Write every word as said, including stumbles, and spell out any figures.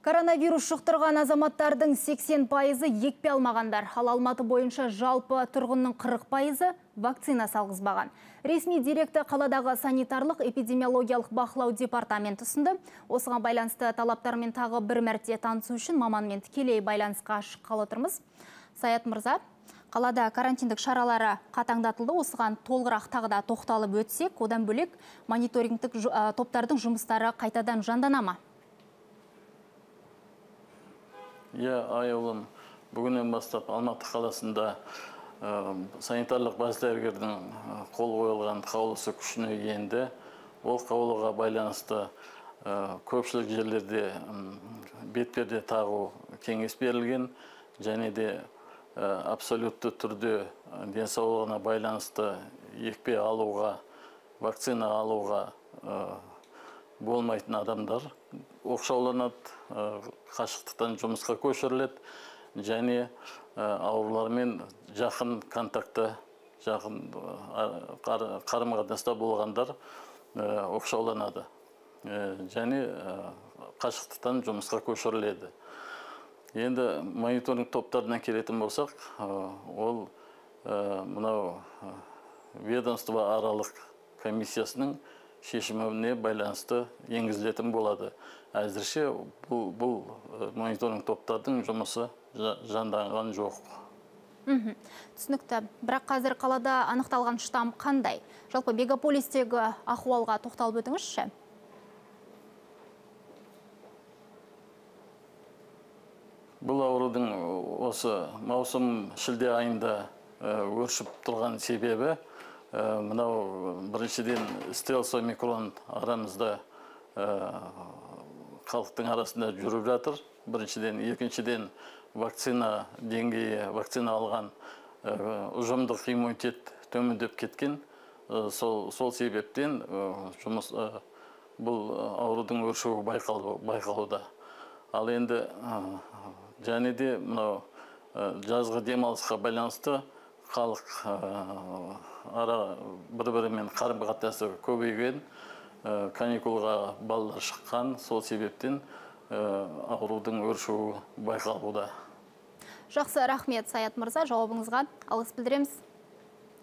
Коронавирус жұқтырған азаматтардың сексен пайызы екпе алмағандар. Ал Алматы бойынша жалпы тұрғынның қырық пайызы вакцина салғызбаған. Ресми директі қаладағы санитарлық эпидемиологиялық бақылау департаменті ұсынды. Осыған байланысты талаптармен тағы бір мәрте танысу үшін маманмен тікелей байланысқа шыққалы отырмыз. Саят мырза, қалада карантиндік шаралары қатаңдатылды. Осыған толығырақ тағы да тоқталып өтсек, одан бөлек мониторингтік топтардың жұмыстары қайтадан жандана ма? Иә, айылым, бүгіннен бастап Алматы қаласында санитарлық бас дәрігердің қол қойылған қаулысы күшіне енді. Ол қаулыға байланысты көпшілік жерлерде бетперде тағу кеңес берілген, және де абсолютті түрде денсаулығына байланысты екпе алуға, вакцина алуға болмайтын адамдар оқшауланады, қашықтықтан жұмысқа көшіріледі, және аурулармен жақын контакты, жақын қарым-қатынаста болғандар оқшауланады, және қашықтықтан жұмысқа көшіріледі. Енді мониторинг топтарына келетін болсақ, ол мынау ведомство аралық комиссиясының шешіміне байланысты енгізілетін болады. Әзірше бұл мониторинг топтардың жұмысы жанданған жоқ. Түсінікті. Бірақ қазір қалада анықталған штамм қандай? Жалпы мегаполистегі ахуалға тоқталып өтіңізші? Бұл аурудың осы маусым шілде айында өршіп тұрған себебі, мынау біріншіден стелс омикрон арамызда халықтың арасында жүріп жатыр. Біріншіден, екіншіден вакцина деңгейі, вакцина алған ұжымдық иммунитет төмендеп кеткен. Сол себептен бұл аурудың өршуі байқалуда. Ал енді және де мынау жазғы демалысқа байланысты халық бір-бірімен қарым-қатынасы көбейген, каникулға балалар шыққан, сол себептен аурудың өршуі байқалуда. Жақсы, рахмет Саят мырза, жауабыңызға алғыс білдіреміз.